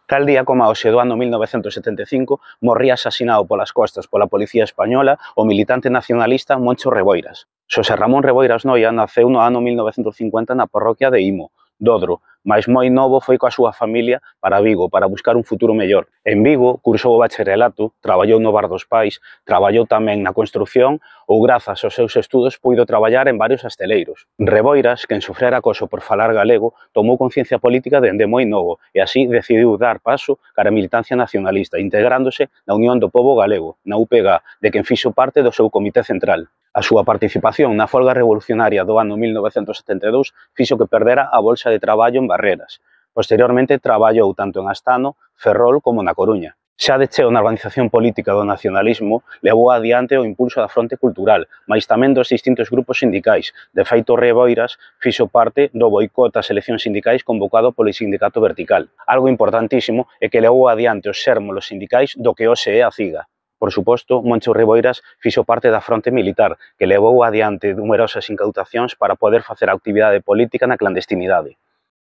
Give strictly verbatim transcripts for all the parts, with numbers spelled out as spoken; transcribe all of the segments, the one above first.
Tal día como a hoxe do ano mil novecentos setenta e cinco morría asasinado polas costas pola policía española o militante nacionalista Moncho Reboiras. Xosé Ramón Reboiras Noia naceu no ano mil novecentos cincuenta na parroquia de Imo, Dodro, mais moi novo foi coa súa familia para Vigo para buscar un futuro mellor. En Vigo cursou o bacharelato, traballou no bar dos pais, traballou tamén na construción ou grazas aos seus estudos puido traballar en varios asteleiros. Reboiras, quen sofrera acoso por falar galego, tomou conciencia política dende moi novo e así decidiu dar paso cara a militancia nacionalista, integrándose na Unión do Pobo Galego, na U P G, de quen fixo parte do seu comité central. A súa participación na folga revolucionaria do ano mil novecentos setenta e dous fixo que perdera a bolsa de traballo en Barreras. Posteriormente traballou tanto en Astano, Ferrol como na Coruña. Xa de cheo na organización política do nacionalismo, levou adiante o impulso da fronte cultural, mais tamén dos distintos grupos sindicais. De feito, Reboiras fixo parte do boicot ás eleccións sindicais convocado polo Sindicato Vertical. Algo importantísimo é que levou adiante os sérmolos sindicais do que hoxe é a CIGA. Por suposto, Moncho Reboiras fixo parte da fronte militar, que levou adiante numerosas incautacións para poder facer a actividade política na clandestinidade.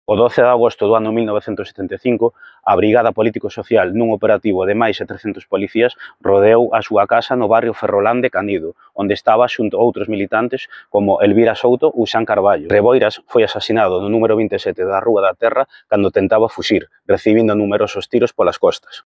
O doce de agosto do ano mil novecentos setenta e cinco, a Brigada Político-Social, nun operativo de máis de trescentos policías, rodeou a súa casa no barrio Ferrolán de Canido, onde estaba xunto a outros militantes como Elvira Souto ou Xan Carballo. Reboiras foi asasinado no número vinte e sete da Rúa da Terra cando tentaba fuxir, recibindo numerosos tiros polas costas.